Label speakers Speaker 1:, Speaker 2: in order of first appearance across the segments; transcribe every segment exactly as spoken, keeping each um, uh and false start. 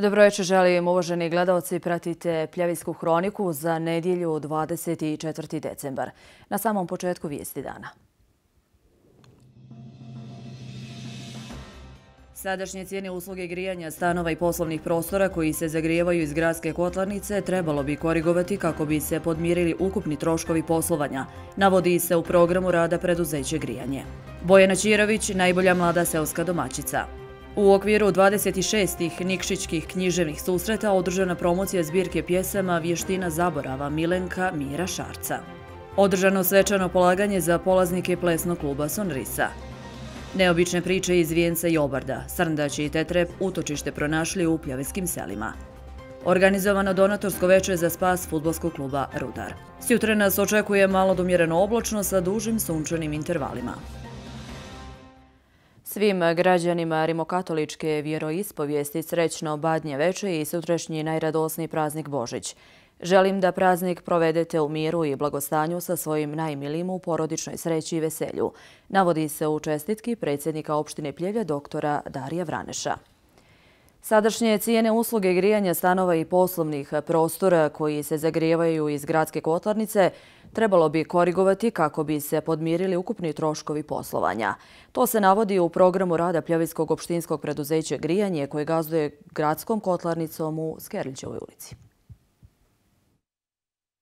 Speaker 1: Dobro večer, želim uvaženi gledalci, pratite Pljevijsku hroniku za nedjelju dvadeset četvrti decembar. Na samom početku vijesti dana. Sadašnje cijene usluge grijanja stanova i poslovnih prostora koji se zagrijevaju iz gradske kotlarnice trebalo bi korigovati kako bi se podmirili ukupni troškovi poslovanja, navodi se u programu rada preduzeće Grijanje. Bojana Ćirović, najbolja mlada seoska domaćica. U okviru dvadeset šestih Nikšićkih književnih susreta održana promocija zbirke pjesama Vještina zaborava Milenka Mira Šarca. Održano svečano polaganje za polaznike plesnog kluba Sonrisa. Neobične priče iz Vijenca i Obarda, Srndać i Tetrep utočište pronašli u pljevijskim selima. Organizovano donatorsko veče za spas fudbalskog kluba Rudar. Sjutra nas očekuje malo do umjereno oblačno sa dužim sunčanim intervalima. Svim građanima rimokatoličke vjeroispovijesti srećno Badnje veče i sutrašnji najradosniji praznik Božić. Želim da praznik provedete u miru i blagostanju sa svojim najmilijim u porodičnoj sreći i veselju, navodi se u čestitki predsjednika opštine Pljevlja doktora Darija Vraneša. Sadašnje cijene usluge grijanja stanova i poslovnih prostora koji se zagrijevaju iz gradske kotlarnice trebalo bi korigovati kako bi se podmirili ukupni troškovi poslovanja. To se navodi u programu rada Pljevijskog opštinskog preduzeća Grijanje koje gazduje gradskom kotlarnicom u Skerlićevoj ulici.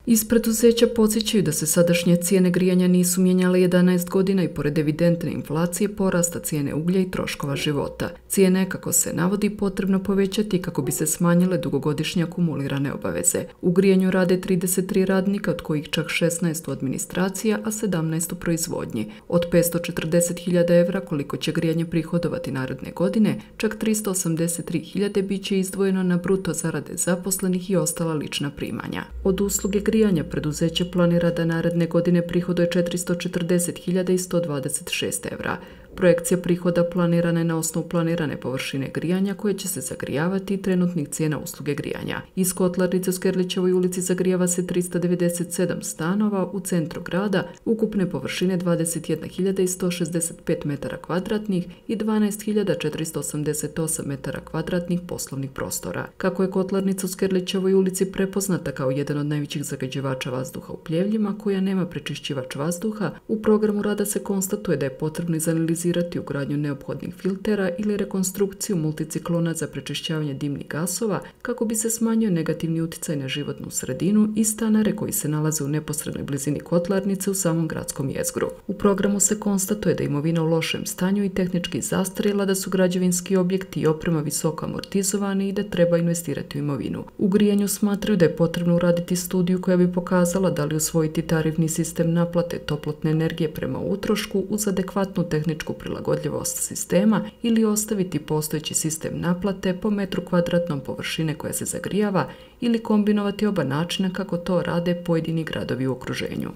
Speaker 2: Iz preduzeća podsjećaju da se sadašnje cijene grijanja nisu mijenjale jedanaest godina i pored evidentne inflacije porasta cijene uglja i troškova života. Cijene je, kako se navodi, potrebno povećati kako bi se smanjile dugogodišnje akumulirane obaveze. U grijanju rade trideset tri radnika, od kojih čak šesnaest u administraciji, a sedamnaest u proizvodnji. Od petsto četrdeset hiljada evra koliko će grijanje prihodovati naredne godine, čak tristo osamdeset tri hiljade bit će izdvojeno na bruto zarade zaposlenih i ostala lična primanja. Od usluge grijanja preduzeće planira da naredne godine prihoduje četiristo četrdeset hiljada sto dvadeset šest evra. Projekcija prihoda planirana je na osnovu planirane površine grijanja koje će se zagrijavati i trenutnih cijena usluge grijanja. Iz kotlarnice u Skerlićevoj ulici zagrijava se tristo devedeset sedam stanova u centru grada, ukupne površine dvadeset jedna hiljada sto šezdeset pet metara kvadratnih i dvanaest hiljada četiristo osamdeset osam metara kvadratnih poslovnih prostora. Kako je kotlarnica u Skerlićevoj ulici prepoznata kao jedan od najvećih zagađivača vazduha u Pljevljima koja nema prečišćivač vazduha, u programu rada se konstatuje da je potrebno izanalizirati ugradnju neophodnih filtera ili rekonstrukciju multiciklona za prečišćavanje dimnih gasova kako bi se smanjio negativni utjecaj na životnu sredinu i stanare koji se nalaze u neposrednoj blizini kotlarnice u samom gradskom jezgru. U programu se konstatuje da je imovina u lošem stanju i tehnički zastarjela, da su građevinski objekti i oprema visoko amortizovani i da treba investirati u imovinu. U grijanju smatraju da je potrebno uraditi studiju koja bi pokazala da li usvojiti tarifni sistem naplate toplotne energije prema utrošku uz adekvatnu tehničku prilagodljivost sistema ili ostaviti postojeći sistem naplate po metru kvadratnom površine koja se zagrijava ili kombinovati oba načina kako to rade pojedini gradovi u okruženju.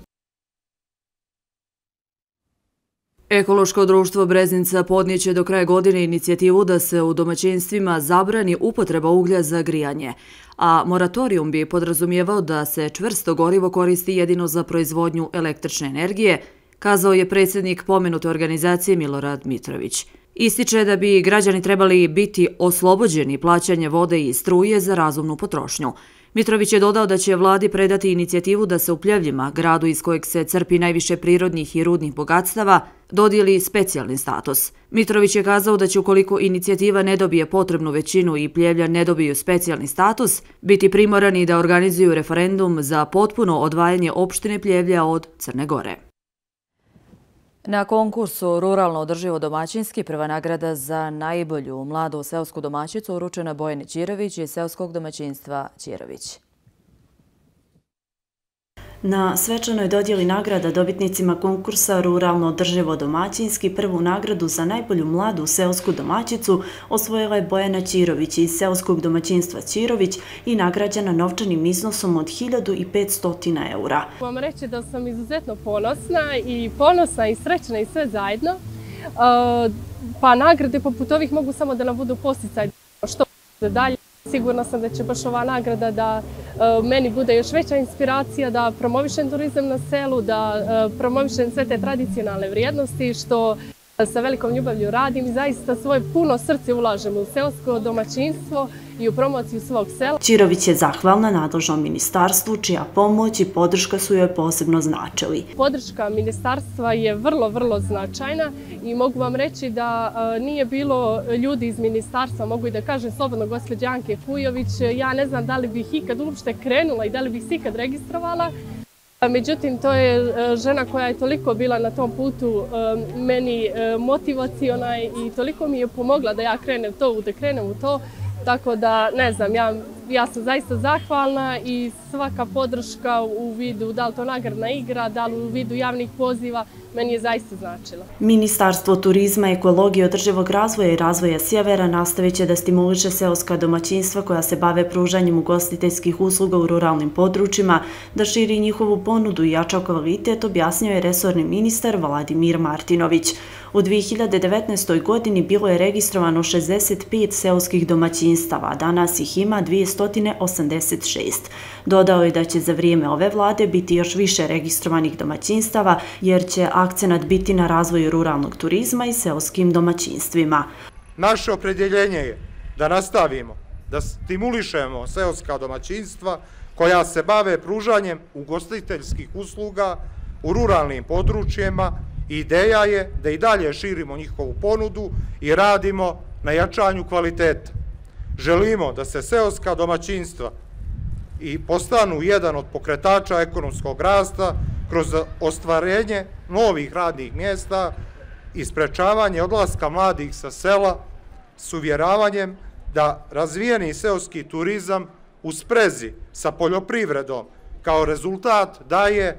Speaker 1: Ekološko društvo Breznica podnijeće do kraja godine inicijativu da se u domaćinstvima zabrani upotreba uglja za grijanje, a moratorijum bi podrazumijevao da se čvrsto gorivo koristi jedino za proizvodnju električne energije, kazao je predsjednik pomenute organizacije Milorad Mitrović. Ističe da bi građani trebali biti oslobođeni plaćanja vode i struje za razumnu potrošnju. Mitrović je dodao da će vladi predati inicijativu da se u Pljevljima, gradu iz kojeg se crpi najviše prirodnih i rudnih bogatstava, dodijeli specijalni status. Mitrović je kazao da će, ukoliko inicijativa ne dobije potrebnu većinu i Pljevlja ne dobiju specijalni status, biti primorani da organizuju referendum za potpuno odvajanje opštine Pljevlja od Crne Gore. Na konkursu Ruralno održivo domaćinski prva nagrada za najbolju mladu seosku domaćicu uručena Bojani Ćirović iz seoskog domaćinstva Ćirović.
Speaker 3: Na svečanoj dodjeli nagrada dobitnicima konkursa Ruralno održivo domaćinski prvu nagradu za najbolju mladu seosku domaćicu osvojila je Bojana Ćirović iz seoskog domaćinstva Ćirović i nagrađena novčanim iznosom od hiljadu petsto eura.
Speaker 4: Vam reći da sam izuzetno ponosna i ponosna i srećna i sve zajedno. Pa nagrade poput ovih mogu samo da nam budu posticaj što dalje. Sigurna sam da će baš ova nagrada da meni bude još veća inspiracija, da promovišem turizam na selu, da promovišem sve te tradicionalne vrijednosti što Sa velikom ljubavlju radim i zaista svoje puno srce ulažem u seosko domaćinstvo i u promociju svog sela.
Speaker 3: Čirović je zahvalna nadležnom ministarstvu, čija pomoć i podrška su joj posebno značili.
Speaker 4: Podrška ministarstva je vrlo, vrlo značajna i mogu vam reći da nije bilo ljudi iz ministarstva, mogu i da kažem slobodno gospođe Anke Kujović, ja ne znam da li bih ikad uopšte krenula i da li bih se ikad registrovala. Međutim, to je žena koja je toliko bila na tom putu meni motivaciona i toliko mi je pomogla da ja krenem to, da krenem u to. Tako da, ne znam, ja, ja sam zaista zahvalna i svaka podrška u vidu, da li to nagradna igra, da li u vidu javnih poziva, meni je zaista značila.
Speaker 3: Ministarstvo turizma, ekologije, održivog razvoja i razvoja sjevera nastavit će da stimuliše seoska domaćinstva koja se bave pružanjem ugostiteljskih usluga u ruralnim područjima, da širi njihovu ponudu i jača kvalitet, objasnio je resorni ministar Vladimir Martinović. U dvije hiljade devetnaestoj. godini bilo je registrovano šezdeset pet seoskih domaćinstava, a danas ih ima dvjesto osamdeset šest. Dodao je da će za vrijeme ove vlade biti još više registrovanih domaćinstava, jer će akcenat biti na razvoju ruralnog turizma i seoskim domaćinstvima.
Speaker 5: Naše opredjeljenje je da nastavimo, da stimulišemo seoska domaćinstva koja se bave pružanjem ugostiteljskih usluga u ruralnim područjima. Ideja je da i dalje širimo njihovu ponudu i radimo na jačanju kvaliteta. Želimo da se seoska domaćinstva i postanu jedan od pokretača ekonomskog rasta kroz ostvarenje novih radnih mjesta i sprečavanje odlaska mladih sa sela s uvjeravanjem da razvijeni seoski turizam u sprezi sa poljoprivredom kao rezultat daje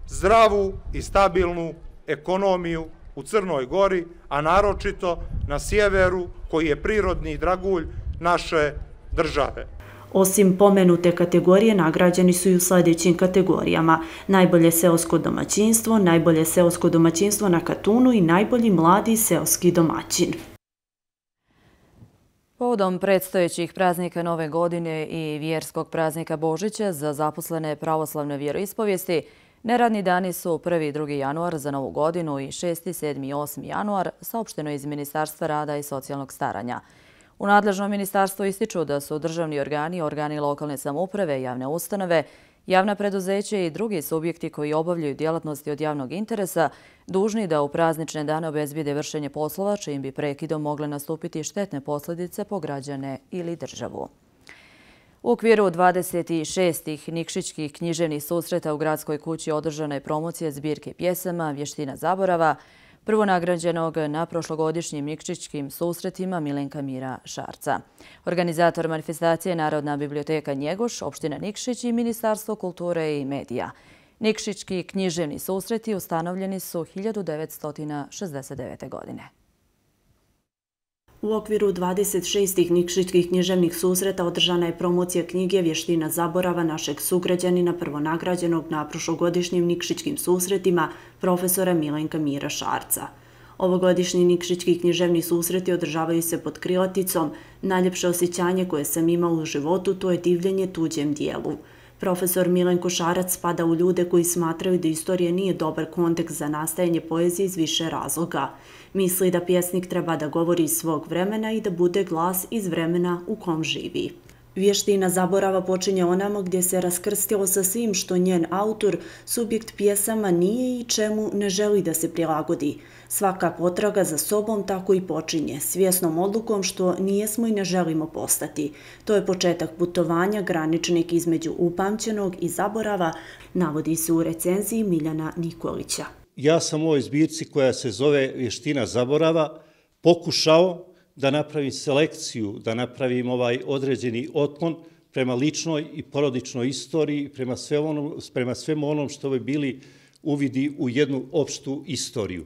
Speaker 5: zdravu i stabilnu ekonomiju u Crnoj Gori, a naročito na sjeveru koji je prirodni dragulj naše države.
Speaker 3: Osim pomenute kategorije, nagrađeni su i u sljedećim kategorijama: najbolje seosko domaćinstvo, najbolje seosko domaćinstvo na Katunu i najbolji mladi seoski domaćin.
Speaker 1: Povodom predstojećih praznika Nove godine i vjerskog praznika Božića za zaposlene pravoslavne vjeroispovijesti, neradni dani su prvi i drugi januar za Novu godinu i šesti, sedmi i osmi januar, saopšteno iz Ministarstva rada i socijalnog staranja. U nadležnom ministarstvu ističu da su državni organi, organi lokalne samouprave, javne ustanove, javna preduzeća i drugi subjekti koji obavljaju djelatnosti od javnog interesa dužni da u praznične dane obezbijede vršenje poslova čijim bi prekidom mogle nastupiti štetne posljedice po građane ili državu. U okviru dvadeset šest. Nikšićkih književnih susreta u Gradskoj kući održana je promocija zbirke pjesama Vještina zaborava, prvonagrađenog na prošlogodišnjim Nikšićkim susretima Milenka Mira Šarca. Organizator manifestacije je Narodna biblioteka Njegoš, opština Nikšić i Ministarstvo kulture i medija. Nikšićki književni susreti ustanovljeni su hiljadu devetsto šezdeset devete. godine.
Speaker 3: U okviru dvadeset šest. Nikšićkih književnih susreta održana je promocija knjige Vještina zaborava našeg sugrađanina prvonagrađenog na prošlogodišnjim Nikšićkim susretima profesora Milenka Mira Šarca. Ovogodišnji Nikšićki književni susreti održavaju se pod krilaticom "Najljepše osjećanje koje sam imao u životu, to je divljenje tuđem dijelu". Profesor Milenko Šarac spada u ljude koji smatraju da istorija nije dobar kontekst za nastajanje poezije iz više razloga. Misli da pjesnik treba da govori iz svog vremena i da bude glas iz vremena u kom živi. Vještina zaborava počinje onamo gdje se raskrstilo sa svim što njen autor, subjekt pjesama, nije i čemu ne želi da se prilagodi. Svaka potraga za sobom tako i počinje, svjesnom odlukom što nijesmo i ne želimo postati. To je početak putovanja, graničnik između upamćenog i zaborava, navodi se u recenziji Miljana Nikolića.
Speaker 6: Ja sam u ovoj zbirci koja se zove Vještina zaborava pokušao da napravim selekciju, da napravim ovaj određeni otklon prema ličnoj i porodičnoj istoriji, prema, sve onom, prema svemu onom što bi bili uvidi u jednu opštu istoriju.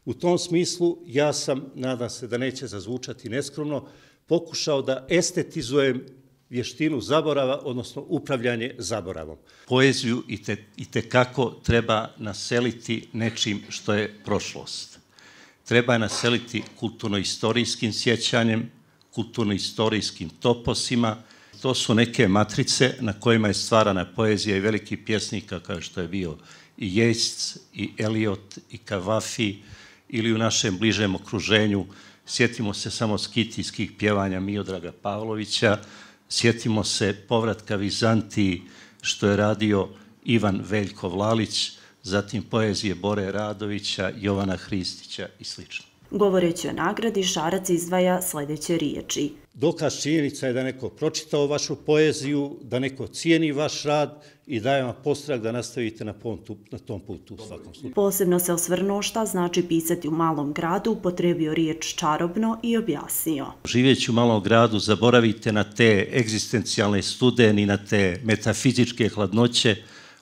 Speaker 6: U tom smislu ja sam, nadam se da neće zazvučati neskromno, pokušao da estetizujem vještinu zaborava, odnosno upravljanje zaboravom.
Speaker 7: Poeziju i te, i tekako treba naseliti nečim što je prošlost. Treba je naseliti kulturno-istorijskim sjećanjem, kulturno-istorijskim toposima. To su neke matrice na kojima je stvarana poezija i velikih pjesnika kao što je bio i Yeats, i Eliot, i Kavafi, ili u našem bližem okruženju. Sjetimo se samo skitijskih pjevanja Miodraga Pavlovića, sjetimo se povratka Vizantiji što je radio Ivan Veljko Vlalić, zatim poezije Bore Radovića, Jovana Hristića i sl.
Speaker 3: Govoreći o nagradi, Šarac izdvaja sljedeće riječi.
Speaker 6: Dokaz činjenica je da neko pročitao vašu poeziju, da neko cijeni vaš rad i daje vam postrah da nastavite na, pontu, na tom putu u svakom slučaju.
Speaker 3: Posebno se osvrnuo šta znači pisati u malom gradu, upotrijebio riječ čarobno i objasnio.
Speaker 7: Živjeći u malom gradu zaboravite na te egzistencijalne studeni, na te metafizičke hladnoće,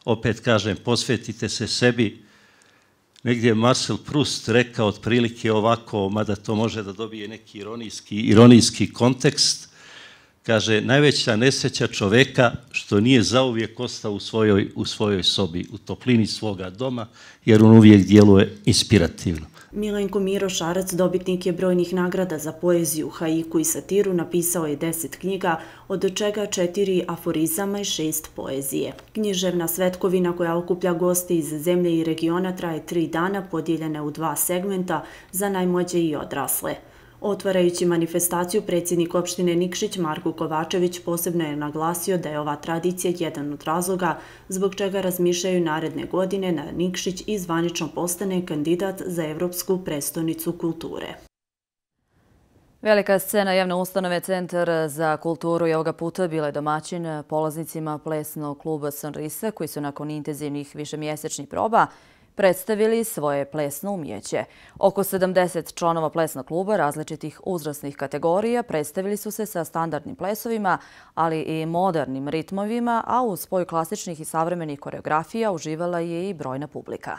Speaker 7: opet kažem, posvetite se sebi. Negdje je Marcel Proust rekao otprilike ovako, mada to može da dobije neki ironijski, ironijski kontekst, kaže, najveća nesreća čoveka što nije zauvijek ostao u svojoj, u svojoj sobi, u toplini svoga doma, jer on uvijek djeluje inspirativno.
Speaker 3: Milenko Miro Šarac, dobitnik je brojnih nagrada za poeziju, haiku i satiru, napisao je deset knjiga, od čega četiri aforizama i šest poezije. Književna svetkovina koja okuplja goste iz zemlje i regiona traje tri dana, podijeljene u dva segmenta za najmlađe i odrasle. Otvarajući manifestaciju, predsjednik opštine Nikšić Marko Kovačević posebno je naglasio da je ova tradicija jedan od razloga zbog čega razmišljaju naredne godine da Nikšić i zvanično postane kandidat za Evropsku prestonicu kulture.
Speaker 1: Velika scena javne ustanove Centar za kulturu je ovoga puta bila domaćin polaznicima plesnog kluba Sonrisa koji su nakon intenzivnih višemjesečnih proba predstavili svoje plesno umjeće. Oko sedamdeset članova plesnog kluba različitih uzrasnih kategorija predstavili su se sa standardnim plesovima, ali i modernim ritmovima, a uz spoj klasičnih i savremenih koreografija uživala je i brojna publika.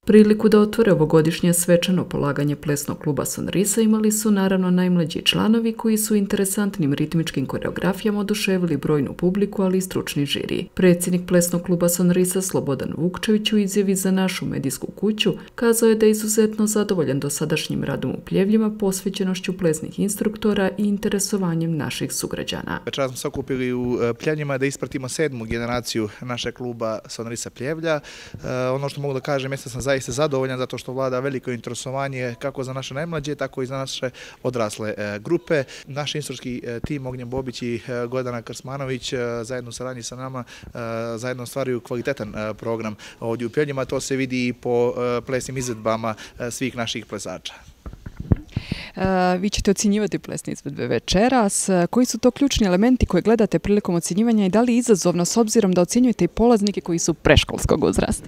Speaker 2: Priliku da otvore ovogodišnje svečano polaganje plesnog kluba Sonrisa imali su naravno najmlađi članovi koji su interesantnim ritmičkim koreografijama oduševili brojnu publiku, ali i stručni žiri. Predsjednik plesnog kluba Sonrisa Slobodan Vukčević u izjavi za našu medijsku kuću kazao je da je izuzetno zadovoljan dosadašnjim radom u Pljevljima, posvećenošću plesnih instruktora i interesovanjem naših sugrađana.
Speaker 8: Večeras smo se okupili u Pljevljima da ispratimo sedmu generaciju našeg kluba Sonrisa Pljevlja. Ono što mogu da kažem jeste da sam zaista zadovoljan zato što vlada veliko interesovanje kako za naše najmlađe, tako i za naše odrasle grupe. Naš instruktorski tim Ognjen Bobić i Gordana Krsmanović zajedno saradnji sa nama zajedno stvaraju kvalitetan program ovdje u Pljevljima. To se vidi i po plesnim izvedbama svih naših plesača.
Speaker 9: Vi ćete ocjenjivati plesne izvedbe večeras. Koji su to ključni elementi koje gledate prilikom ocjenjivanja i da li je izazovno s obzirom da ocjenjujete i polaznike koji su preškolskog uzrasta?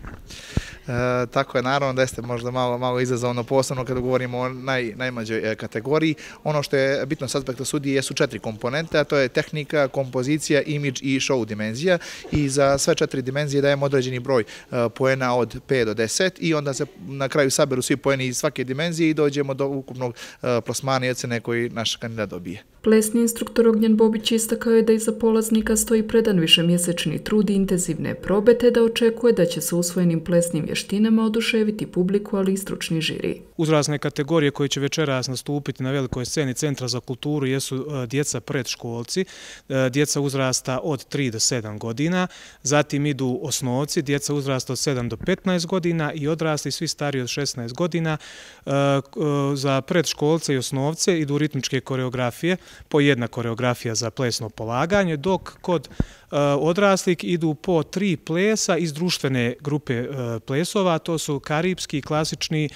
Speaker 8: E, tako je, naravno da jeste možda malo, malo izazovno, posebno kada govorimo o naj, najmlađoj e, kategoriji. Ono što je bitno s aspekta sudije su četiri komponente, a to je tehnika, kompozicija, imidž i show dimenzija. I za sve četiri dimenzije dajemo određeni broj e, poena od pet do deset i onda se na kraju saberu svi poeni iz svake dimenzije i dođemo do ukupnog e, plasmana i ocene koji naš kandidat dobije.
Speaker 2: Plesni instruktor Ognjen Bobić istakao je da iza polaznika stoji predan višemjesečni trud i intenzivne probe, te da očekuje da će se usvojenim plesnim vještinama oduševiti publiku, ali i stručni žiri.
Speaker 10: Uzrasne kategorije koje će večeras nastupiti na velikoj sceni Centra za kulturu jesu djeca predškolci, djeca uzrasta od tri do sedam godina, zatim idu osnovci, djeca uzrasta od sedam do petnaest godina i odrasli svi stariji od šesnaest godina. Za predškolce i osnovce idu ritmičke koreografije, po jedna koreografija za plesno polaganje, dok kod odraslih idu po tri plesa iz društvene grupe plesova, to su karipski, klasični,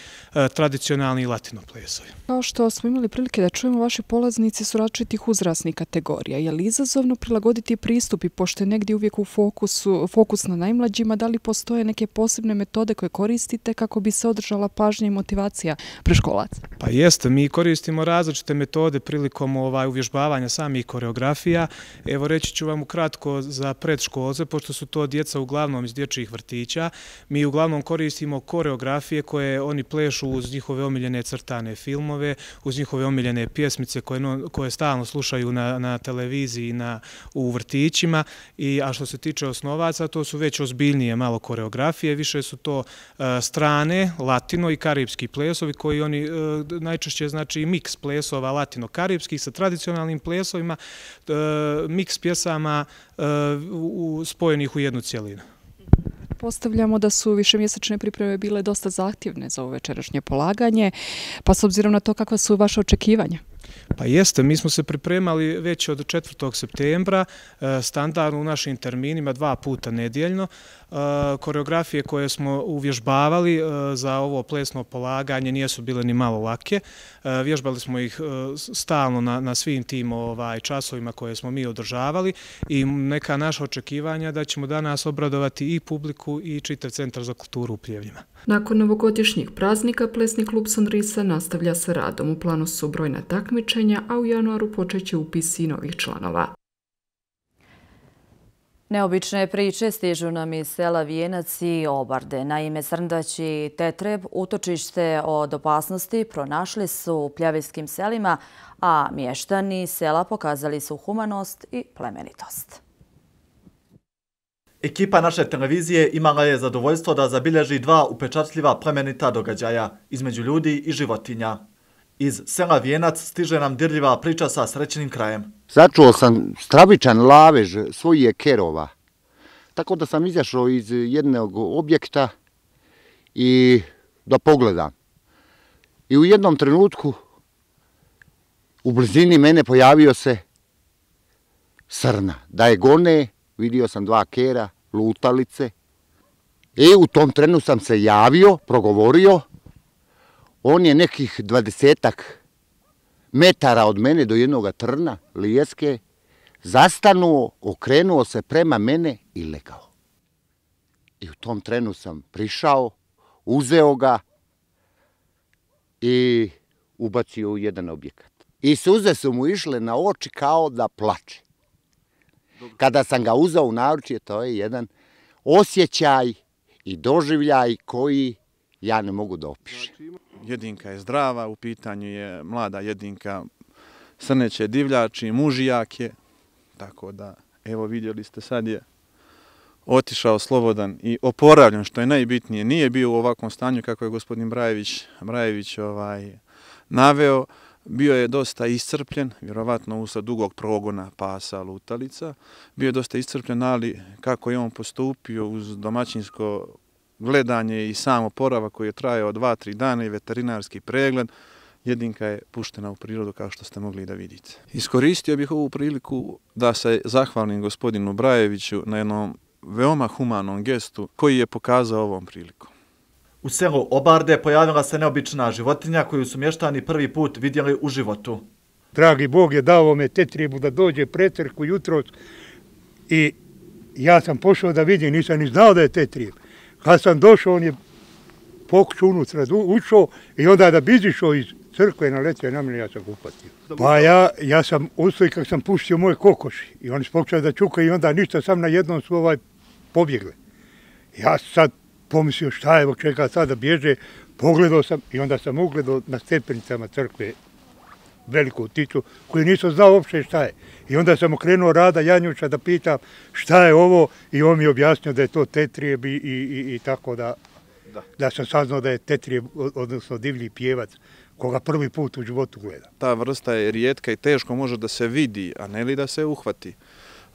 Speaker 10: tradicionalni i latino plesovi.
Speaker 9: Kao što smo imali prilike da čujemo, vaši polaznici su različitih uzrasnih kategorija. Je li izazovno prilagoditi pristup i pošto je negdje uvijek u fokusu, fokus na najmlađima, da li postoje neke posebne metode koje koristite kako bi se održala pažnja i motivacija preškolaca?
Speaker 10: Pa jeste, mi koristimo različite metode prilikom ovaj, uvježbavanja samih koreografija. Evo reći ću vam ukratko za predškolce, pošto su to djeca uglavnom iz dječjih vrtića. Mi uglavnom koristimo koreografije koje oni plešu uz njihove omiljene crtane filmove, uz njihove omiljene pjesmice koje, koje stalno slušaju na, na televiziji na, u vrtićima. I, a što se tiče osnovaca, to su već ozbiljnije malo koreografije, više su to uh, strane, latino i karipski plesovi koji oni uh, najčešće znači miks plesova latino-karipskih sa tradicionalnim plesovima, uh, miks pjesama uh, u, spojenih u jednu cijelinu.
Speaker 9: Pretpostavljamo da su višemjesečne pripreme bile dosta zahtjevne za ovo večerašnje polaganje, pa s obzirom na to kakva su vaše očekivanja?
Speaker 10: Pa jeste, mi smo se pripremali već od četvrtog septembra, standardno u našim terminima dva puta nedjeljno. Koreografije koje smo uvježbavali za ovo plesno polaganje nisu bile ni malo lake. Vježbali smo ih stalno na, na svim tim ovaj, časovima koje smo mi održavali i neka naša očekivanja da ćemo danas obradovati i publiku i čitav Centar za kulturu u Pljevljima.
Speaker 2: Nakon novogodišnjih praznika, plesni klub Sonrisa nastavlja sa radom. U planu su brojna takmičenja, a u januaru počeće upisi novih članova.
Speaker 1: Neobične priče stižu nam iz sela Vijenac i Obarde. Naime, Srndać i Tetreb utočište od opasnosti pronašli su u pljavijskim selima, a mještani sela pokazali su humanost i plemenitost.
Speaker 11: Ekipa naše televizije imala je zadovoljstvo da zabilježi dva upečatljiva plemenita događaja između ljudi i životinja. Iz sela Vijenac stiže nam dirljiva priča sa srećnim krajem.
Speaker 12: Začuo sam stravičan lavež svojih kerova. Tako da sam izašao iz jednog objekta i da pogledam. I u jednom trenutku u blizini mene pojavio se srna. Da je gone, vidio sam dva kera, lutalice. I u tom trenu sam se javio, progovorio. On je nekih dvadesetak metara od mene do jednog trna, lijeske, zastanuo, okrenuo se prema mene i legao. I u tom trenu sam prišao, uzeo ga i ubacio u jedan objekat. I suze su mu išle na oči kao da plače. Kada sam ga uzeo u naručje, to je jedan osjećaj i doživljaj koji ja ne mogu da opišem.
Speaker 13: Jedinka je zdrava, u pitanju je mlada jedinka, srneće divljači, mužijak je, tako da, evo vidjeli ste, sad je otišao slobodan i oporavljen, što je najbitnije. Nije bio u ovakvom stanju kako je gospodin Brajević, Brajević ovaj, naveo, bio je dosta iscrpljen, vjerovatno usled dugog progona pasa lutalica, bio je dosta iscrpljen, ali kako je on postupio uz domaćinsko gledanje i sam oporavak koji je trajao dva, tri dana i veterinarski pregled, jedinka je puštena u prirodu kao što ste mogli da vidite. Iskoristio bih ovu priliku da se zahvalim gospodinu Brajeviću na jednom veoma humanom gestu koji je pokazao ovom prilikom.
Speaker 11: U selu Obarde pojavila se neobična životinja koju su mještani prvi put vidjeli u životu.
Speaker 14: Dragi Bog je dao me tetrijebu da dođe pretrku jutros i ja sam pošao da vidim, nisam ni znao da je tetrijeb. Kad sam došao, on je pokušao unutra, ušao i onda da bi izišao iz crkve naletio na mene, ja sam ga upatio. Pa ja, ja sam ustao kad sam puštio moje kokoši i oni su pokušali da čukaju i onda ništa, sam na jednom su ovaj pobjegle. Ja sad pomislio šta je, od čega sada bježe, pogledao sam i onda sam ugledao na stepenicama crkve veliku pticu koju nisam znao uopšte šta je. I onda sam okrenuo Rada Janjuša da pitam šta je ovo i on mi je objasnio da je to tetrijeb i, i, i, i tako da, da. da sam saznao da je tetrijeb, odnosno divlji pjevac, koga prvi put u životu gleda.
Speaker 13: Ta vrsta je rijetka i teško može da se vidi, a ne li da se uhvati.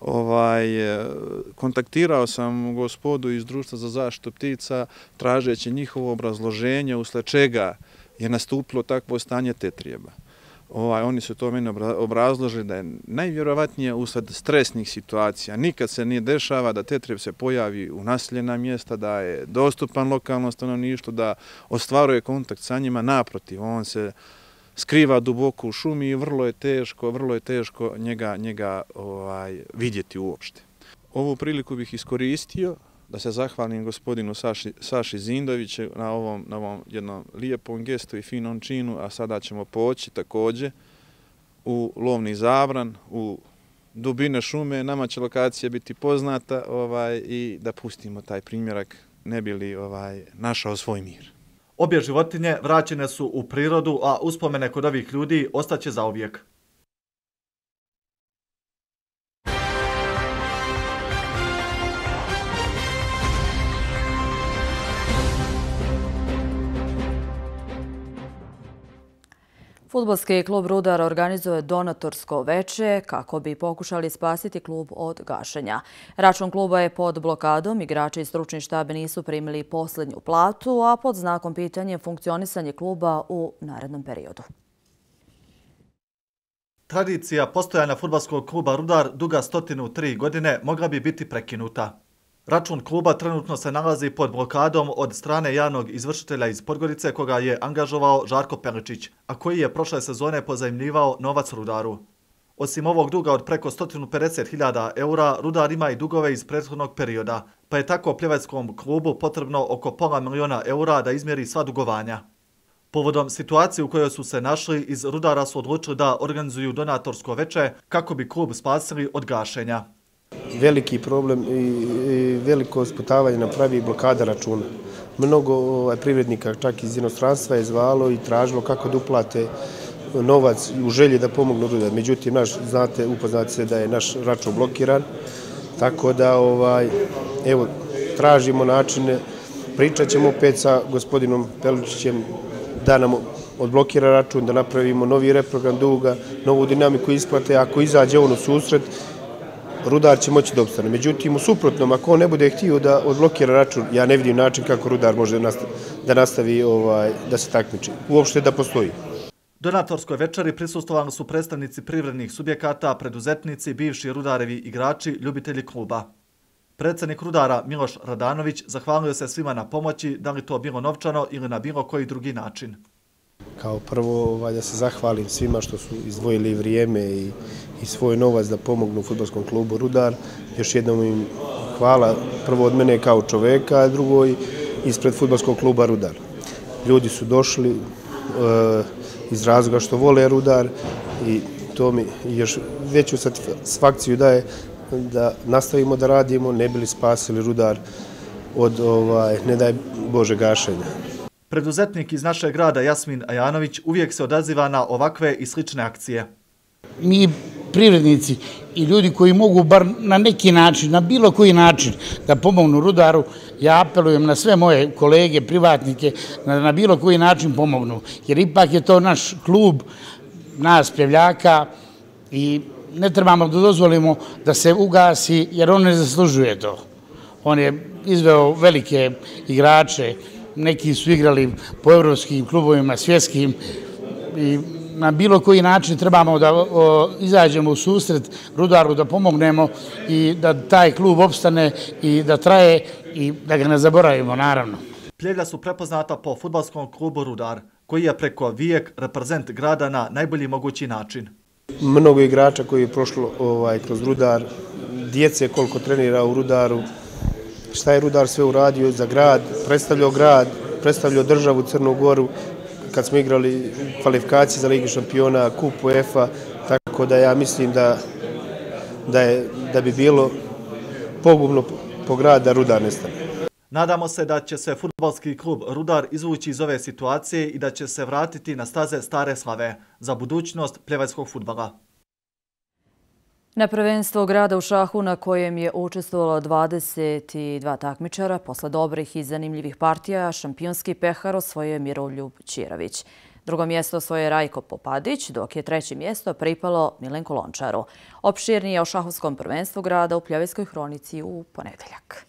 Speaker 13: Ovaj, kontaktirao sam gospodu iz Društva za zaštitu ptica tražeći njihovo obrazloženje usled čega je nastupilo takvo stanje tetrijeba. Ovaj, oni su to meni obrazložili da je najvjerovatnije usled stresnih situacija. Nikad se nije dešava da tetrijeb se pojavi u naseljena mjesta, da je dostupan lokalnom stanovništvu, da ostvaruje kontakt sa njima. Naprotiv, on se skriva duboko u šumi i vrlo je teško, vrlo je teško njega, njega ovaj, vidjeti uopšte. Ovu priliku bih iskoristio da se zahvalim gospodinu Saši, Saši Zindoviću na ovom, na ovom jednom lijepom gestu i finom činu, a sada ćemo poći također u lovni zabran, u dubine šume. Nama će lokacija biti poznata ovaj, i da pustimo taj primjerak, ne bi li ovaj, našao svoj mir.
Speaker 11: Obje životinje vraćene su u prirodu, a uspomene kod ovih ljudi ostaće zauvijek.
Speaker 1: Fudbalski klub Rudar organizuje donatorsko veče kako bi pokušali spasiti klub od gašenja. Račun kluba je pod blokadom, igrači i stručni štab nisu primili posljednju platu, a pod znakom pitanja funkcionisanje kluba u narednom periodu.
Speaker 11: Tradicija postojanja fudbalskog kluba Rudar duga stotinu tri godine mogla bi biti prekinuta. Račun kluba trenutno se nalazi pod blokadom od strane javnog izvršitelja iz Podgorice koga je angažovao Žarko Peličić, a koji je prošle sezone pozajmljivao novac Rudaru. Osim ovog duga od preko sto pedeset hiljada eura, Rudar ima i dugove iz prethodnog perioda, pa je tako Pljeveckom klubu potrebno oko pola miliona eura da izmjeri sva dugovanja. Povodom situacije u kojoj su se našli, iz Rudara su odlučili da organizuju donatorsko veče kako bi klub spasili od gašenja.
Speaker 15: Veliki problem i veliko sputavanje napravi blokada računa. Mnogo privrednika, čak iz inostranstva, je zvalo i tražilo kako da uplate novac u želji da pomognu Rudar. Međutim, naš, znate, upoznate se da je naš račun blokiran, tako da ovaj, evo, tražimo načine, pričat ćemo opet sa gospodinom Peličićem da nam odblokira račun, da napravimo novi reprogram duga, novu dinamiku isplate. Ako izađe on u susret, Rudar će moći da opstane. Međutim, u suprotnom, ako on ne bude htio da odblokira račun, ja ne vidim način kako Rudar može da nastavi ovaj, da se takmiči. Uopšte da postoji.
Speaker 11: Donatorskoj večeri prisustvovali su predstavnici privrednih subjekata, preduzetnici, bivši Rudarevi igrači, ljubitelji kluba. Predsjednik Rudara Miloš Radanović zahvalio se svima na pomoći, da li to bilo novčano ili na bilo koji drugi način.
Speaker 15: Kao prvo da se zahvalim svima što su izdvojili vrijeme i, i svoj novac da pomognu fudbalskom klubu Rudar. Još jednom im hvala prvo od mene kao čoveka, a drugo ispred fudbalskog kluba Rudar. Ljudi su došli e, iz razloga što vole Rudar i to mi još veću satisfakciju daje da nastavimo da radimo, ne bili spasili Rudar od, ovaj, ne daj Bože, gašenja.
Speaker 11: Preduzetnik iz našeg grada Jasmin Ajanović uvijek se odaziva na ovakve i slične akcije.
Speaker 16: Mi privrednici i ljudi koji mogu bar na neki način, na bilo koji način da pomognu Rudaru, ja apelujem na sve moje kolege, privatnike, da na bilo koji način pomognu. Jer ipak je to naš klub, nas Pljevljaka i ne trebamo da dozvolimo da se ugasi jer on ne zaslužuje to. On je izveo velike igrače, neki su igrali po evropskim klubovima, svjetskim i na bilo koji način trebamo da o, izađemo u susret Rudaru, da pomognemo i da taj klub opstane i da traje i da ga ne zaboravimo, naravno.
Speaker 11: Pljevlja su prepoznata po fudbalskom klubu Rudar, koji je preko vijek reprezent grada na najbolji mogući način.
Speaker 15: Mnogo igrača koji je prošlo ovaj, kroz Rudar, djece koliko trenira u Rudaru, šta je Rudar sve uradio za grad, predstavljao grad, predstavljao državu Crnu Goru, kad smo igrali kvalifikacije za Ligi šampiona, kup UEFA, tako da ja mislim da, da, je, da bi bilo pogubno po grad da Rudar nestane.
Speaker 11: Nadamo se da će se fudbalski klub Rudar izvući iz ove situacije i da će se vratiti na staze stare slave za budućnost pljevajskog fudbala.
Speaker 1: Na prvenstvo grada u šahu na kojem je učestvovalo dvadeset dva takmičara, posle dobrih i zanimljivih partija, šampionski pehar osvojio je Miroljub Ćirović. Drugo mjesto osvojio je Rajko Popadić, dok je treće mjesto pripalo Milenku Lončaru. Opširnije o šahovskom prvenstvu grada u Pljevajskoj hronici u ponedeljak.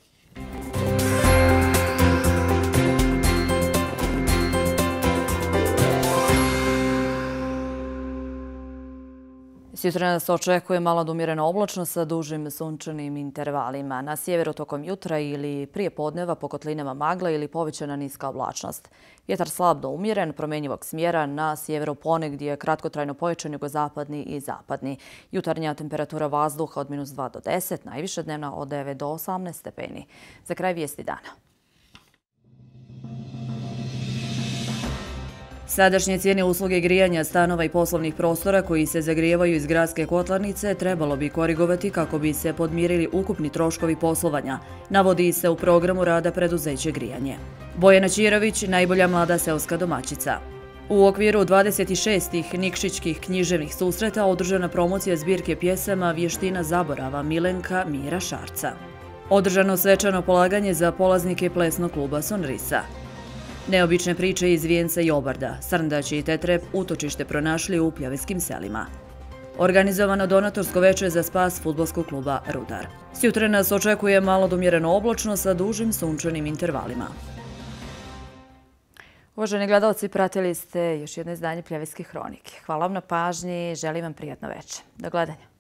Speaker 1: Sutra nas očekuje malo umjerena oblačnost sa dužim sunčanim intervalima. Na sjeveru tokom jutra ili prije podneva po kotlinama magla ili povećana niska oblačnost. Vjetar slab do umjeren, promenjivog smjera, na sjeveru ponegdje kratkotrajno pojačan jugozapadni i zapadni. Jutarnja temperatura vazduha od minus dva do deset, najviše dnevna od devet do osamnaest stepeni. Za kraj vijesti dana. Sadašnje cijene usluge grijanja stanova i poslovnih prostora koji se zagrijevaju iz gradske kotlarnice trebalo bi korigovati kako bi se podmirili ukupni troškovi poslovanja, navodi se u programu rada preduzeće Grijanje. Bojana Ćirović, najbolja mlada seoska domaćica. U okviru dvadeset šestih Nikšićkih književnih susreta održana promocija zbirke pjesama Vještina zaborava Milenka Mira Šarca. Održano svečano polaganje za polaznike plesnog kluba Sonrisa. Neobične priče iz Vijenca i Obarda, Srndać i Tetrep utočište pronašli u pljavetskim selima. Organizovano donatorsko veče za spas fudbalskog kluba Rudar. Sjutra nas očekuje malo domjereno oblačno sa dužim sunčanim intervalima.
Speaker 17: Uvaženi gledalci, pratili ste još jedno izdanje Pljevljske hronike. Hvala vam na pažnji, želim vam prijatno veče. Do gledanja.